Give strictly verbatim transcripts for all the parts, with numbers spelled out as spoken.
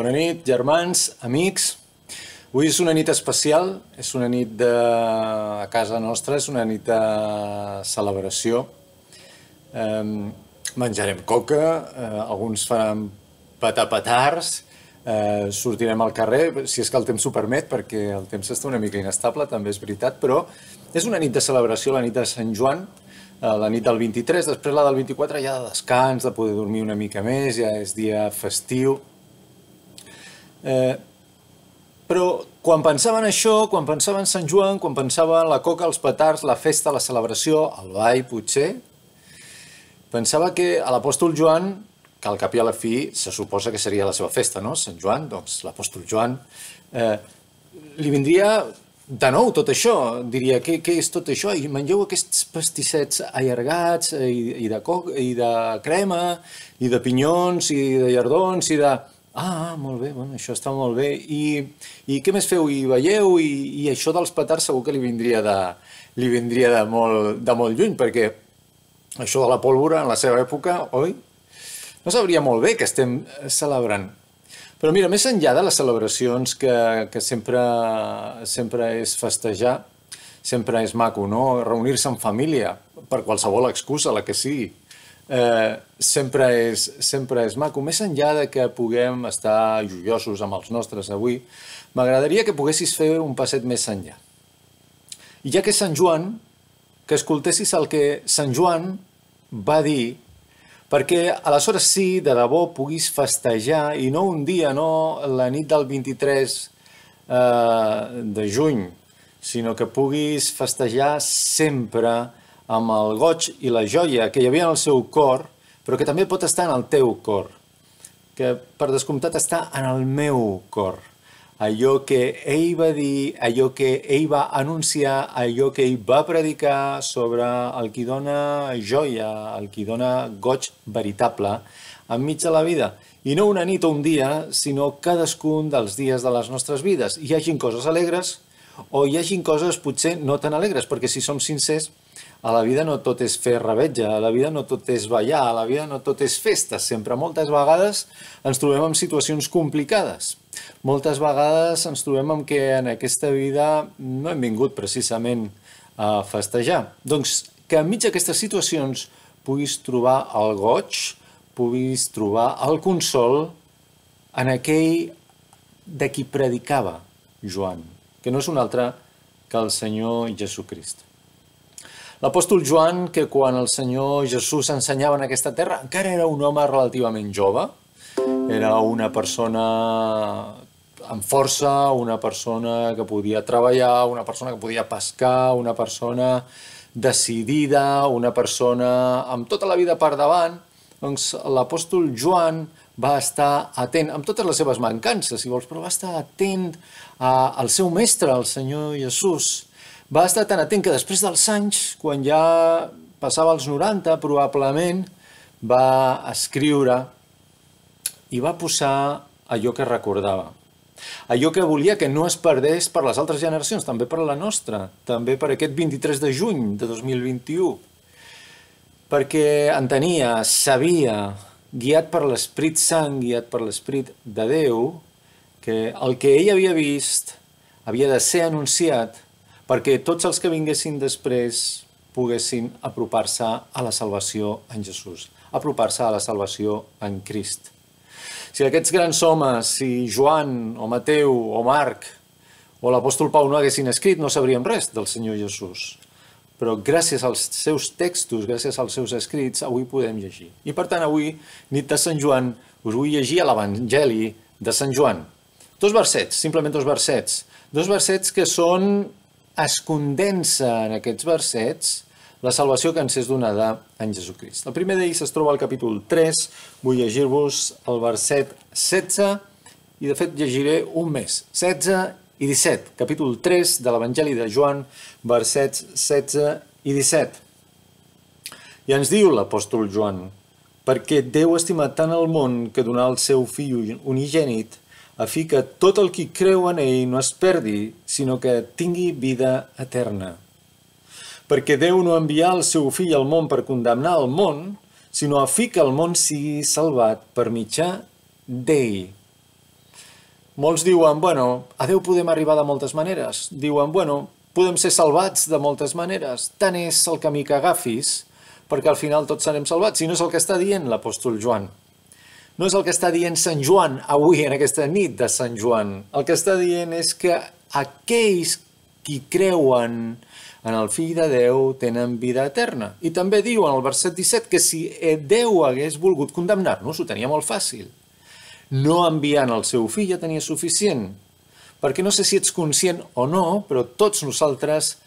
Bona nit, germans, amics. Avui és una nit especial, és una nit de... a casa nostra, és una nit de celebració. Eh, menjarem coca, eh, alguns faran patapetards, eh, sortirem al carrer, si és que el temps ho permet, perquè el temps està una mica inestable, també és veritat, però és una nit de celebració, la nit de Sant Joan, eh, la nit del vint-i-tres, després la del vint-i-quatre ja de descans, de poder dormir una mica més, ja és dia festiu. Eh, però quan pensava en això, quan pensava en Sant Joan, quan pensava en la coca, els petards, la festa, la celebració, el ball potser, pensava que a l'apòstol Joan, que al cap i a la fi se suposa que seria la seva festa, no? Sant Joan, doncs l'apòstol Joan, eh, li vindria de nou tot això, diria, què, què és tot això? I mengeu aquests pastissets allargats, i, i, de coca, i de crema, i de pinyons, i de llardons, i de... Ah, molt bé, bueno, això està molt bé. I, i què més feu? I veieu? I, i això dels petards segur que li vindria de, li vindria de, molt, de molt lluny, perquè això de la pólvora en la seva època, oi? No sabria molt bé que estem celebrant. Però mira, més enllà de les celebracions que, que sempre, sempre és festejar, sempre és maco, no? Reunir-se en família, per qualsevol excusa, la que sigui. Eh, sempre, és, sempre és maco. Més enllà de que puguem estar joiosos amb els nostres avui, m'agradaria que poguessis fer un passet més enllà. I ja que és Sant Joan, que escoltessis el que Sant Joan va dir, perquè aleshores sí, de debò, puguis festejar, i no un dia, no la nit del vint-i-tres eh, de juny, sinó que puguis festejar sempre amb el goig i la joia que hi havia en el seu cor, però que també pot estar en el teu cor, que per descomptat està en el meu cor. Allò que ell va dir, allò que ell va anunciar, allò que ell va predicar sobre el qui dona joia, el qui dona goig veritable enmig de la vida. I no una nit o un dia, sinó cadascun dels dies de les nostres vides. Hi hagin coses alegres o hi hagin coses potser no tan alegres, perquè si som sincers, a la vida no tot és fer revetja, a la vida no tot és ballar, a la vida no tot és festa. Sempre, moltes vegades, ens trobem en situacions complicades. Moltes vegades ens trobem en què en aquesta vida no hem vingut precisament a festejar. Doncs que enmig d'aquestes situacions puguis trobar el goig, puguis trobar el consol en aquell de qui predicava Joan, que no és un altre que el Senyor Jesucrist. L'apòstol Joan, que quan el Senyor Jesús ensenyava en aquesta terra, encara era un home relativament jove, era una persona amb força, una persona que podia treballar, una persona que podia pescar, una persona decidida, una persona amb tota la vida per davant. Doncs l'apòstol Joan va estar atent, amb totes les seves mancances, si vols, però va estar atent al seu mestre, al Senyor Jesús. Va estar tan atent que després dels anys, quan ja passava els noranta, probablement, va escriure i va posar allò que recordava. Allò que volia que no es perdés per les altres generacions, també per la nostra, també per aquest vint-i-tres de juny de dos mil vint-i-u. Perquè entenia, sabia, guiat per l'Esperit Sant, guiat per l'Esperit de Déu, que el que ell havia vist havia de ser anunciat perquè tots els que vinguessin després poguessin apropar-se a la salvació en Jesús, apropar-se a la salvació en Crist. Si aquests grans homes, si Joan o Mateu o Marc o l'apòstol Pau no haguessin escrit, no sabríem res del Senyor Jesús. Però gràcies als seus textos, gràcies als seus escrits, avui podem llegir. I per tant, avui, nit de Sant Joan, us vull llegir a l'Evangeli de Sant Joan. Dos versets, simplement dos versets. Dos versets que són... es condensa en aquests versets la salvació que ens és donada en Jesucrist. El primer d'ells es troba al capítol tres, vull llegir-vos el verset setze, i de fet llegiré un més, setze i disset, capítol tres de l'Evangeli de Joan, versets setze i disset. I ens diu l'apòstol Joan, perquè Déu ha estimat tant el món que donà el seu fill unigènit, a fi que tot el qui creu en ell no es perdi, sinó que tingui vida eterna. Perquè Déu no envià el seu fill al món per condemnar el món, sinó a fi que el món sigui salvat per mitjà d'ell. molts diuen, bueno, a Déu podem arribar de moltes maneres. Diuen, bueno, podem ser salvats de moltes maneres. Tant és el camí que agafis, perquè al final tots serem salvats. I no és el que està dient l'apòstol Joan. No és el que està dient Sant Joan avui, en aquesta nit de Sant Joan. El que està dient és que aquells qui creuen en el Fill de Déu tenen vida eterna. I també diu en el verset disset que si Déu hagués volgut condemnar-nos, ho tenia molt fàcil. No enviant el seu fill ja tenia suficient. Perquè no sé si ets conscient o no, però tots nosaltres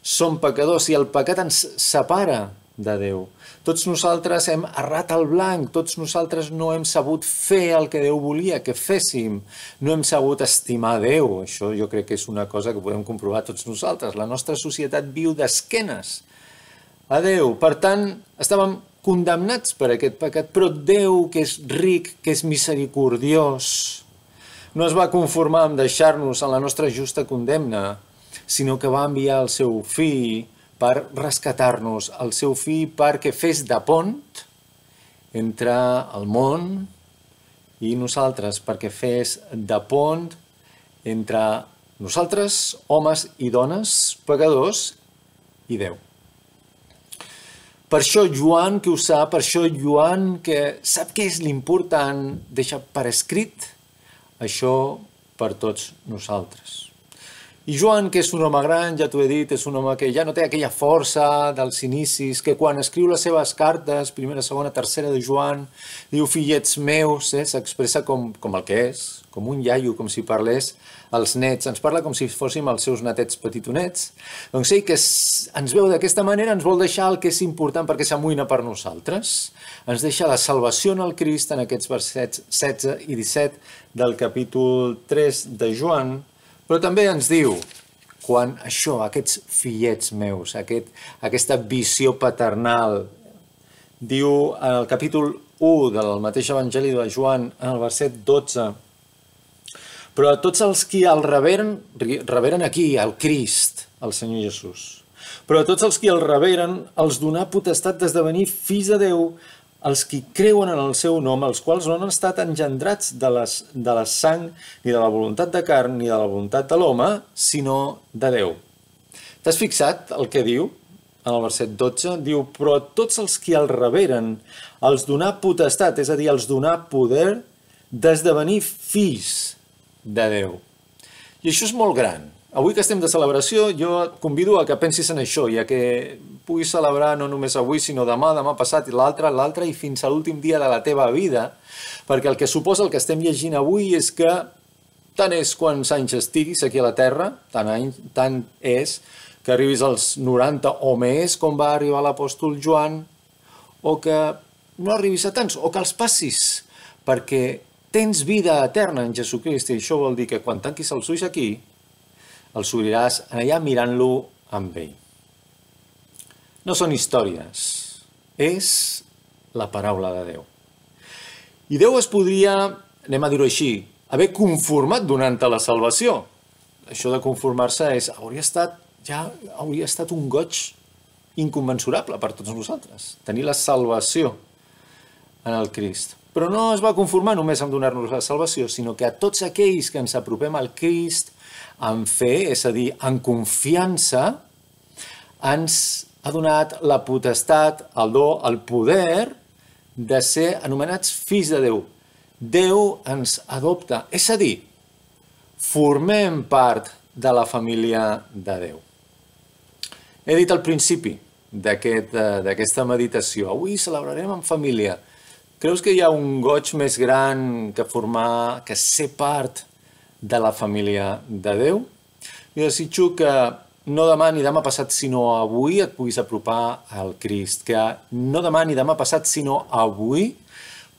som pecadors i el pecat ens separa de Déu. Tots nosaltres hem errat el blanc, tots nosaltres no hem sabut fer el que Déu volia que féssim, no hem sabut estimar Déu. Això jo crec que és una cosa que podem comprovar tots nosaltres. La nostra societat viu d'esquenes a Déu. Per tant, estàvem condemnats per aquest pecat, però Déu, que és ric, que és misericordiós, no es va conformar amb deixar-nos en la nostra justa condemna, sinó que va enviar el seu fill per rescatar-nos, el seu fill perquè fes de pont entre el món i nosaltres, perquè fes de pont entre nosaltres, homes i dones, pecadors, i Déu. Per això Joan, que ho sap, per això Joan, que sap què és l'important, deixa per escrit això per tots nosaltres. I Joan, que és un home gran, ja t'ho he dit, és un home que ja no té aquella força dels inicis, que quan escriu les seves cartes, primera, segona, tercera de Joan, diu fillets meus, eh, s'expressa com, com el que és, com un iaio, com si parlés als nets, ens parla com si fóssim els seus netets petitonets. Doncs ell que ens veu d'aquesta manera ens vol deixar el que és important perquè s'amoïna per nosaltres. Ens deixa la salvació en el Crist en aquests versets setze i disset del capítol tres de Joan, però també ens diu, quan això, aquests fillets meus, aquest, aquesta visió paternal, diu en el capítol u del mateix Evangeli de Joan, en el verset dotze, però a tots els qui el reberen, reberen aquí, el Crist, el Senyor Jesús, però a tots els qui el reberen, els donà potestat d'esdevenir fills de Déu, els qui creuen en el seu nom, els quals no han estat engendrats de, les, de la sang, ni de la voluntat de carn, ni de la voluntat de l'home, sinó de Déu. T'has fixat el que diu? En el verset dotze, diu, però a tots els qui el reberen, els donà potestat, és a dir, els donà poder d'esdevenir fills de Déu. I això és molt gran. Avui que estem de celebració, jo et convido a que pensis en això i a que puguis celebrar no només avui, sinó demà, demà passat, i l'altre, l'altre, i fins a l'últim dia de la teva vida, perquè el que suposa el que estem llegint avui és que tant és quants anys estiguis aquí a la Terra, tant, any, tant és que arribis als noranta o més, com va arribar l'apòstol Joan, o que no arribis a tants, o que els passis, perquè tens vida eterna en Jesucrist, i això vol dir que quan tanquis els ulls aquí, els obriràs allà mirant-lo amb ell. No són històries, és la paraula de Déu. I Déu es podria, anem a dir-ho així, haver conformat donant-te la salvació. Això de conformar-se és, hauria estat, ja hauria estat un goig inconmensurable per tots nosaltres, tenir la salvació en el Crist. Però no es va conformar només amb donar-nos la salvació, sinó que a tots aquells que ens apropem al Crist en fe, és a dir, en confiança, ens ha donat la potestat, el do, el poder de ser anomenats fills de Déu. Déu ens adopta, és a dir, formem part de la família de Déu. He dit al principi d'aquesta meditació, avui celebrarem en família. Creus que hi ha un goig més gran que formar, que ser part de la família de Déu? Jo desitjo que no demà ni demà passat, sinó avui et puguis apropar al Crist, que no demà ni demà passat, sinó avui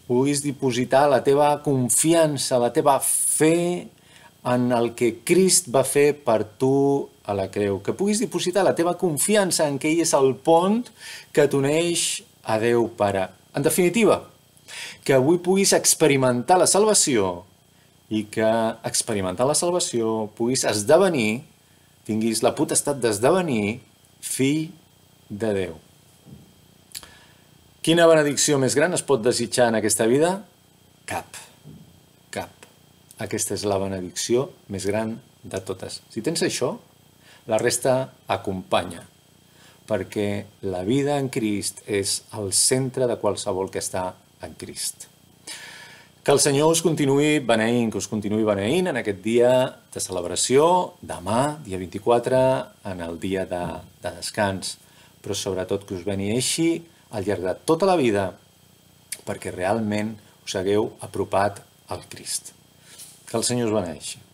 puguis dipositar la teva confiança, la teva fe en el que Crist va fer per tu a la creu, que puguis dipositar la teva confiança en que ell és el pont que t'uneix a Déu Pare. En definitiva, que avui puguis experimentar la salvació i que experimentar la salvació puguis esdevenir, tinguis la potestat d'esdevenir fill de Déu. Quina benedicció més gran es pot desitjar en aquesta vida? Cap. Cap. aquesta és la benedicció més gran de totes. Si tens això, la resta acompanya, perquè la vida en Crist és el centre de qualsevol que està en Crist. Que el Senyor us continuï beneint, que us continuï beneint en aquest dia de celebració, demà, dia vint-i-quatre, en el dia de, de descans, però sobretot que us beneeixi al llarg de tota la vida, perquè realment us hagueu apropat al Crist. Que el Senyor us beneeixi.